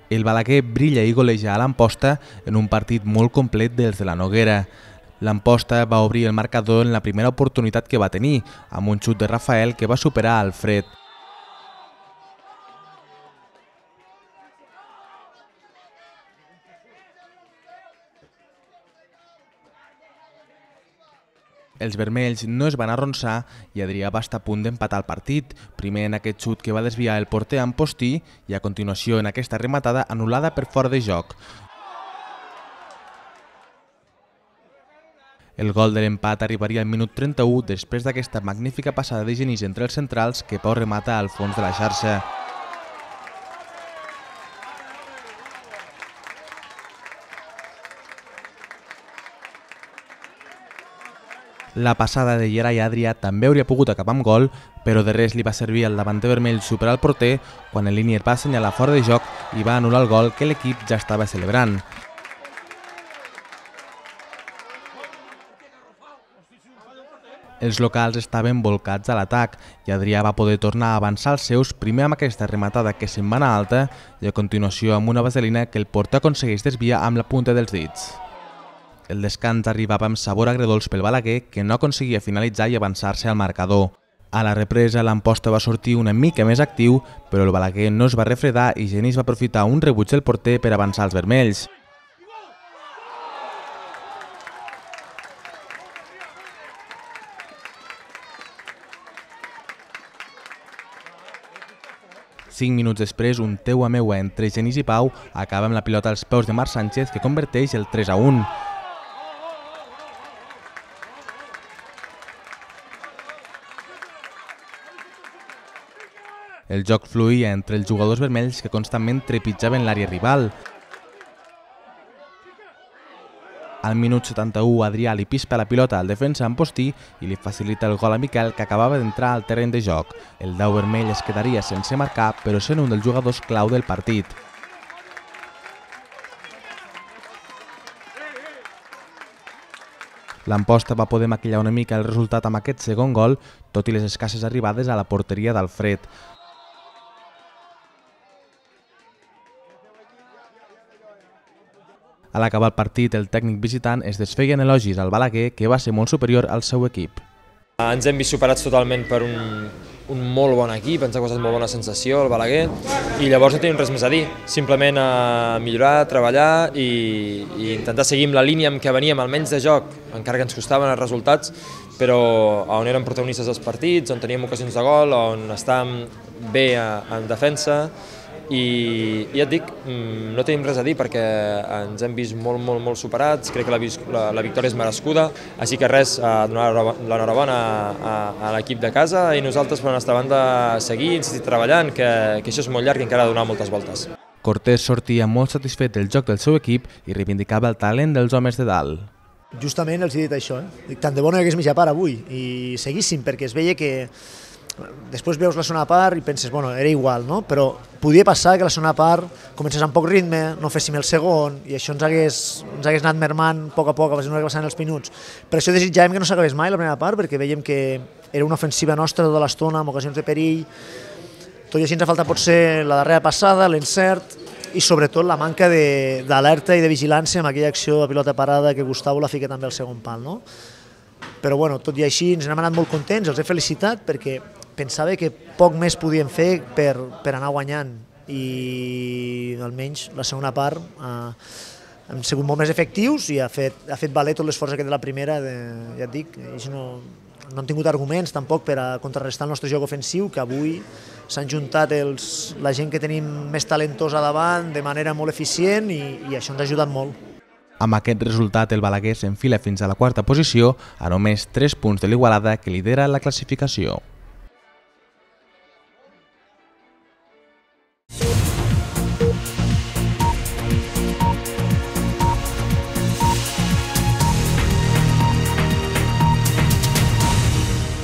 El Balaguer brilla i goleja a l'Amposta en un partit molt complet dels de la Noguera. L'Amposta va obrir el marcador en la primera oportunitat que va tenir, amb un xut de Rafael que va superar Alfred. Els vermells no es van arronsar i Adrià va estar a punt d'empatar el partit, primer en aquest xut que va desviar el porter Ampostí i a continuació en aquesta rematada anul·lada per fora de joc. El gol de l'empat arribaria al minut 31 després d'aquesta magnífica passada de Genís entre els centrals que Pau remata al fons de la xarxa. La passada de Gerai Adrià també hauria pogut acabar amb gol, però de res li va servir al davanter vermell superar el porter quan el línier va assenyalar fora de joc i va anul·lar el gol que l'equip ja estava celebrant. Els locals estaven volcats a l'atac i Adrià va poder tornar a avançar els seus primer amb aquesta rematada que se'n va anar alta i a continuació amb una vaselina que el porter aconsegueix desviar amb la punta dels dits. El descans arribava amb sabor agredolç pel Balaguer, que no aconseguia finalitzar i avançar-se al marcador. A la represa, l'Amposta va sortir una mica més actiu, però el Balaguer no es va refredar i Genís va aprofitar un rebuig del porter per avançar els vermells. Cinc minuts després, un teu a meua entre Genís i Pau acaba amb la pilota als peus de Marc Sánchez, que converteix el 3-1. El joc fluïa entre els jugadors vermells que constantment trepitjaven l'àrea rival. Al minut 71, Adrià li pispa la pilota al defensa Ampostí i li facilita el gol a Miquel, que acabava d'entrar al terreny de joc. El dau vermell es quedaria sense marcar, però sent un dels jugadors clau del partit. L'Amposta va poder maquillar una mica el resultat amb aquest segon gol, tot i les escasses arribades a la porteria d'Alfred. A l'acabar el partit, el tècnic visitant es desfeia en elogis al Balaguer, que va ser molt superior al seu equip. Ens hem vist superats totalment per un molt bon equip, ens ha causat molt bona sensació el Balaguer i llavors no tenim res més a dir, simplement a millorar, treballar i intentar seguir amb la línia amb què veníem, almenys de joc, encara que ens costaven els resultats, però on érem protagonistes dels partits, on teníem ocasions de gol, on estàvem bé en defensa. I ja et dic, no tenim res a dir perquè ens hem vist molt superats, crec que la victòria és merescuda, així que res, donar l'enhorabona a l'equip de casa i nosaltres per la nostra banda seguir, insistir treballant, que això és molt llarg i encara ha de donar moltes voltes. Cortés sortia molt satisfet del joc del seu equip i reivindicava el talent dels homes de dalt. Justament els he dit això, tant de bo no hi hagués mitja part avui i seguíssim perquè es veia que després veus la segona part i penses, bueno, era igual, no? Però podia passar que la segona part comencés amb poc ritme, no féssim el segon i això ens hagués anat mermant a poc a poc, a mesura que passaven els minuts. Per això desitjàvem que no s'acabés mai la primera part, perquè veiem que era una ofensiva nostra tota l'estona, amb ocasions de perill. Tot i així ens ha faltat potser la darrera passada, l'encert i sobretot la manca d'alerta i de vigilància amb aquella acció de pilota parada que Gustavo la fica també al segon pal, no? Però bueno, tot i així ens n'hem anat molt contents, els he felicitat perquè pensava que poc més podíem fer per anar guanyant i almenys la segona part hem sigut molt més efectius i ha fet valer tot l'esforç aquest de la primera, ja et dic, no han tingut arguments tampoc per a contrarrestar el nostre joc ofensiu, que avui s'han juntat la gent que tenim més talentosa davant de manera molt eficient i això ens ha ajudat molt. Amb aquest resultat, el Balaguer s'enfila fins a la quarta posició a només 3 punts de l'Igualada, que lidera la classificació.